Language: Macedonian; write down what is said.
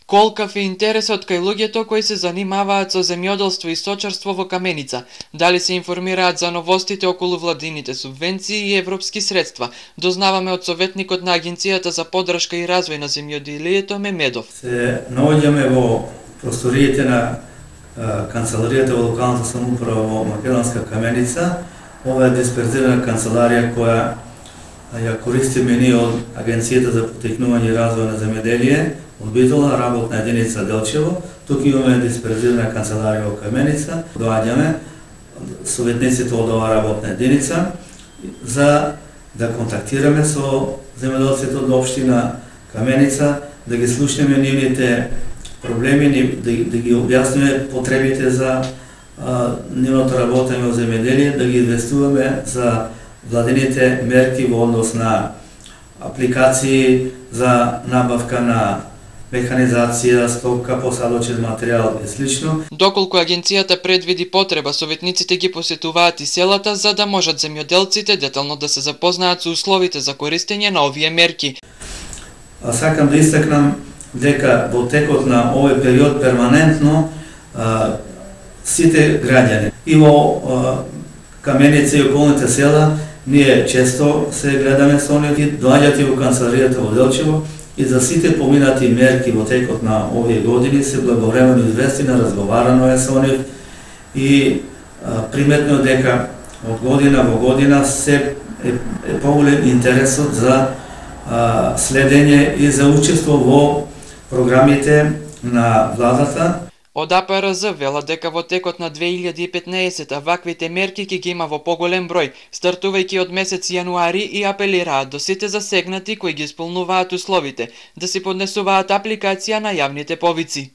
Колкав е интересот кај луѓето кои се занимаваат со земјоделство и сточарство во Каменица, дали се информираат за новостите околу владините субвенции и европски средства, дознаваме од советникот на Агенцијата за поддршка и развој на земјоделието Мемедов. Се наоѓаме во просториите на канцеларијата во локалната самоуправа во Македонска Каменица. Ова е дисперзирана канцеларија која ја користиме ние од Агенцијата за поттикнување и развој на земјоделие, одбителна работна единица Делчево. Тук имаме дисперзирана канцеларија во Каменица. Доаѓаме советниците од оваа работна единица за да контактираме со земјоделците од општина Каменица, да ги слушнеме нивните проблеми, да ги објасниме потребите за нивното работење во земјоделие, да ги известуваме за владините мерки во однос на апликации за набавка на механизација, стока, посадочен материјал и слично. Доколку агенцијата предвиди потреба, советниците ги посетуваат и селата за да можат земјоделците детално да се запознаат со условите за користење на овие мерки. Сакам да истакнам дека во текот на овој период перманентно сите граѓани и во Каменица и околните села ние често се гледаме со нив, доаѓаат и во канцеларијата во Делчево и за сите поминати мерки во текот на овие години се благовремено известина, разговарано е со нив и приметно дека од година во година се е поголем интересот за следење и за учество во програмите на владата. Од АПРЗ велат дека во текот на 2015 ваквите мерки ќе ги има во поголем број, стартувајќи од месец јануари, и апелираат до сите засегнати кои ги исполнуваат условите да си поднесуваат апликација на јавните повици.